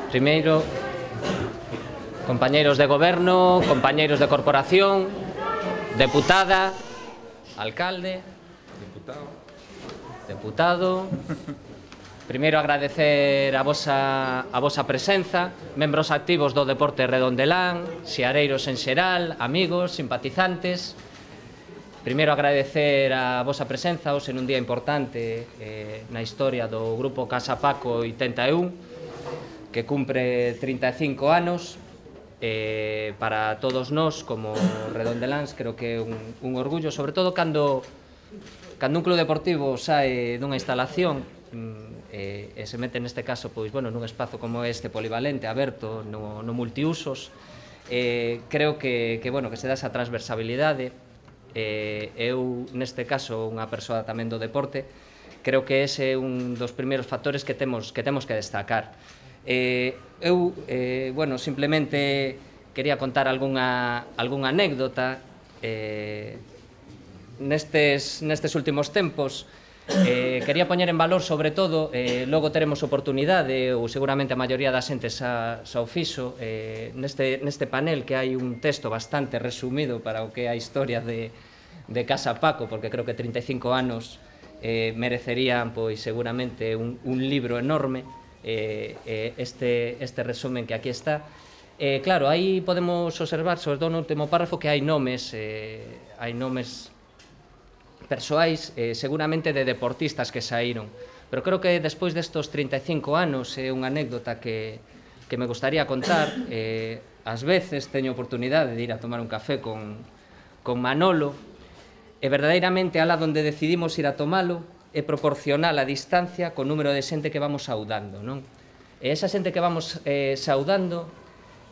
Primeiro, compañeiros de goberno, compañeiros de corporación, deputada, alcalde, deputado. Primeiro agradecer a vosa presenza, membros activos do deporte redondelán, xiareiros en xeral, amigos, simpatizantes. Primeiro agradecer a vosa presenza hoxe nun día importante na historia do Grupo Casa Paco 81, que cumpre 35 anos. Para todos nós, como redondeláns, creo que é un orgullo, sobre todo cando un club deportivo sae dunha instalación e se mete neste caso nun espazo como este polivalente, aberto, no multiusos. Creo que se dá esa transversabilidade. Eu, neste caso, unha persoa tamén do deporte, creo que ese é un dos primeiros factores que temos que destacar. Eu, simplemente quería contar algunha anécdota. Nestes últimos tempos quería poñer en valor, sobre todo, logo teremos oportunidade, ou seguramente a maioría da xente xa o fixo, neste panel, que hai un texto bastante resumido para o que é a historia de Casa Paco, porque creo que 35 anos merecerían seguramente un libro enorme. Este resumen que aquí está. Claro, aí podemos observar, sobre todo no último párrafo, que hai nomes persoais, seguramente de deportistas que saíron, pero creo que despois destos 35 anos é unha anécdota que me gustaría contar. Ás veces teño oportunidade de ir a tomar un café con Manolo, e verdadeiramente alá onde decidimos ir a tomalo é proporcional a distancia co número de xente que vamos saudando, non? E esa xente que vamos saudando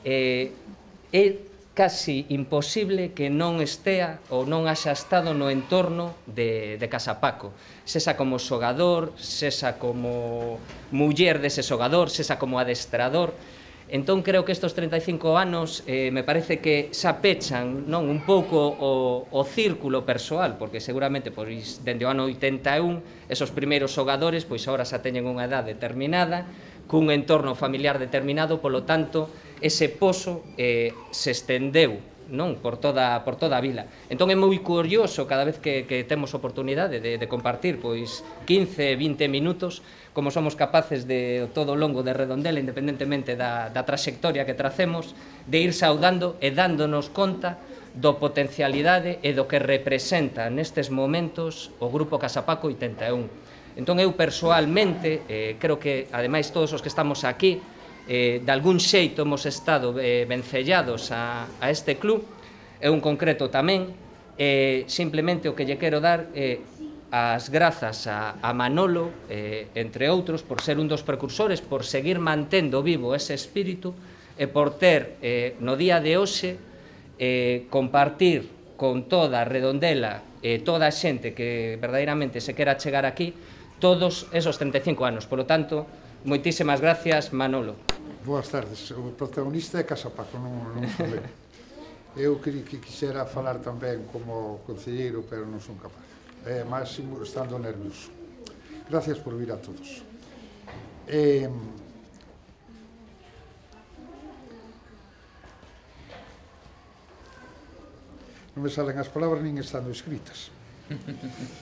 é casi imposible que non estea ou non haxa estado no entorno de Casa Paco, sesa como xogador, sesa como muller dese xogador, sesa como adestrador. Entón creo que estes 35 anos me parece que xa pechan un pouco o círculo persoal, porque seguramente dende o ano 81 esos primeiros xogadores agora xa teñen unha edade determinada, cun entorno familiar determinado, polo tanto ese pozo se estendeu por toda a vila. Entón é moi curioso cada vez que temos oportunidade de compartir 15, 20 minutos, como somos capaces de todo o longo de Redondela, independentemente da traxectoria que tracemos, de ir saudando e dándonos conta do potencialidade e do que representa nestes momentos o Grupo Casa Paco 81. Entón eu persoalmente creo que, ademais, todos os que estamos aquí, de algún xeito hemos estado vencellados a este club. Eu en concreto tamén. Simplemente o que lle quero dar as grazas a Manolo, entre outros, por ser un dos precursores, por seguir mantendo vivo ese espírito e por ter no día de hoxe compartir con toda a Redondela e toda a xente que verdadeiramente se quera chegar aquí todos esos 35 anos. Por lo tanto, moitísimas gracias, Manolo. Boas tardes. O protagonista é Casa Paco, non son eu. Eu quixera falar tamén como concelleiro, pero non son capaz. Máximo estando nervioso. Gracias por vir a todos. Non me salen as palabras nin estando escritas.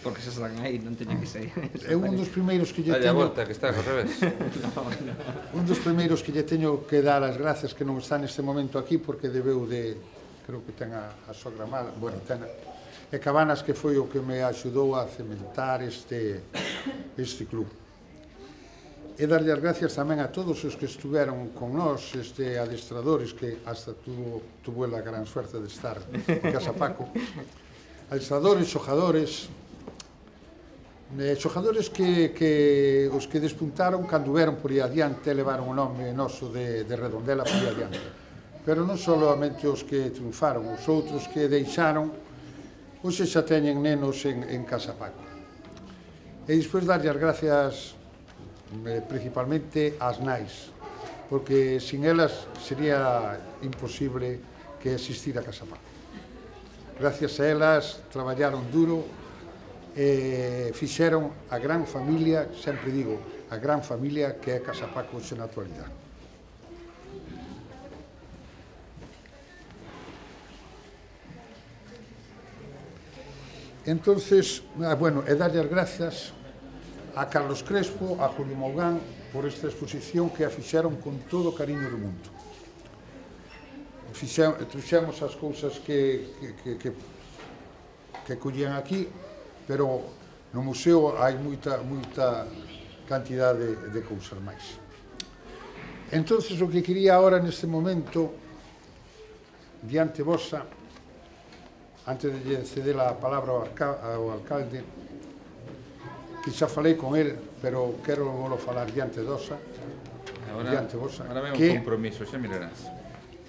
Porque se están aí, non teño que ser. É un dos primeiros que lle teño... Dale a volta, que está ao revés. Un dos primeiros que lle teño que dar as gracias, que non está neste momento aquí, porque debeu de... Creo que ten a sogra mala, bueno, ten... E Cabanas, que foi o que me axudou a cementar este club. E darlle as gracias tamén a todos os que estuveron con nós, adestradores, que hasta tuvo a gran suerte de estar en Casa Paco. Adestradores, xojadores que os que despuntaron cando veron por aí adiante, levaron o nome noso de Redondela por aí adiante. Pero non solamente os que triunfaron, os outros que deixaron, hoxe xa teñen nenos en Casa Paco. E despois darlle as gracias principalmente ás nais, porque sin elas sería imposible que existira Casa Paco. Gracias a elas traballaron duro e fixeron a gran familia, sempre digo, a gran familia que é Casa Paco hoxe na actualidade. Entonces, bueno, e darlle as grazas a Carlos Crespo, a Julio Mougán, por esta exposición que a fixeron con todo o cariño do mundo. Trouxemos as cousas que collían aquí, pero no museo hai moita cantidade de cousas máis. Entonces, o que quería agora neste momento, diante vosa, antes de ceder a palabra ao alcalde, que xa falei con el, pero quero volo falar diante vosa, Ahora ven un compromiso, xa mirarás.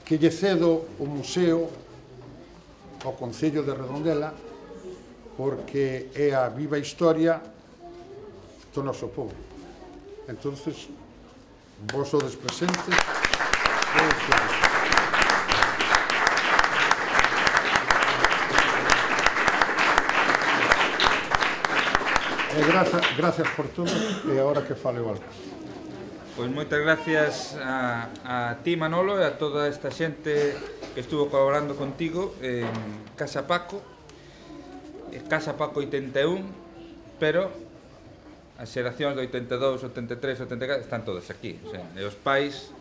Que lle cedo o museo ao Concello de Redondela, porque é a viva historia do noso povo. Entonces, vos sodes presentes. Gracias por todo, e agora que fale o alcalde. Pois moitas gracias a ti, Manolo, e a toda esta xente que estuvo colaborando contigo en Casa Paco 81, pero as xeracións de 82, 83, 84 están todas aquí, o sea, e os pais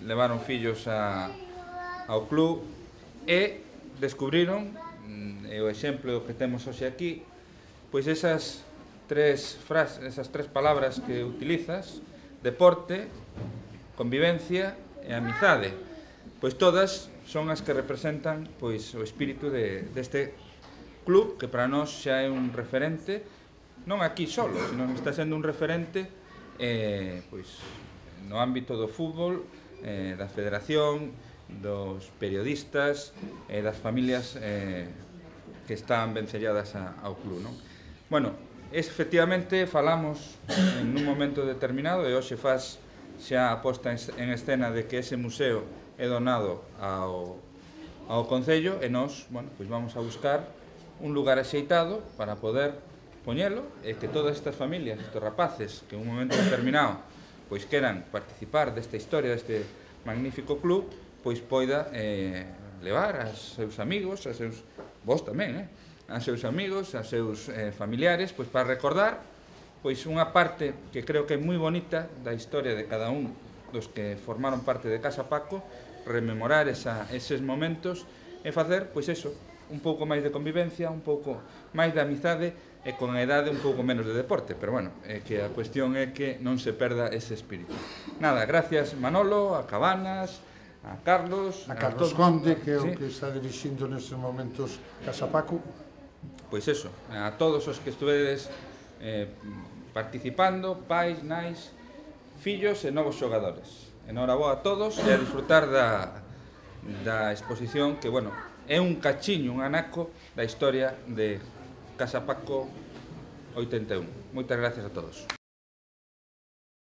levaron fillos ao club e descubriron, e o exemplo que temos hoxe aquí, pois esas tres palabras que utilizas: deporte, convivencia e amizade. Pois todas son as que representan pois o espírito deste club, que para nós xa é un referente, non aquí solo, sino que está sendo un referente pois no ámbito do fútbol, da federación, dos periodistas e das familias que están vencelladas ao club, non? Bueno, efectivamente falamos en un momento determinado, e hoxe faz xa a posta en escena de que ese museo é donado ao Concello, e nós, bueno, pois vamos a buscar un lugar axeitado para poder poñelo, e que todas estas familias, estes rapaces que en un momento determinado pois queran participar desta historia, deste magnífico club, pois poida levar aos seus amigos, vos tamén, a seus amigos, a seus familiares, pois para recordar pois unha parte que creo que é moi bonita da historia de cada un dos que formaron parte de Casa Paco, rememorar eses momentos e facer, pois eso, un pouco máis de convivencia, un pouco máis de amizade e con a idade un pouco menos de deporte, pero bueno, que a cuestión é que non se perda ese espírito. Nada, gracias Manolo, a Cabanas, a Carlos, a Carlos Conde, que é o que está dirixindo nestes momentos Casa Paco. Pois eso, a todos os que estuvedes participando, pais, nais, fillos e novos xogadores. Enhoraboa a todos e a disfrutar da exposición que, bueno, é un cachiño, un anaco da historia de Casa Paco 81. Moitas gracias a todos.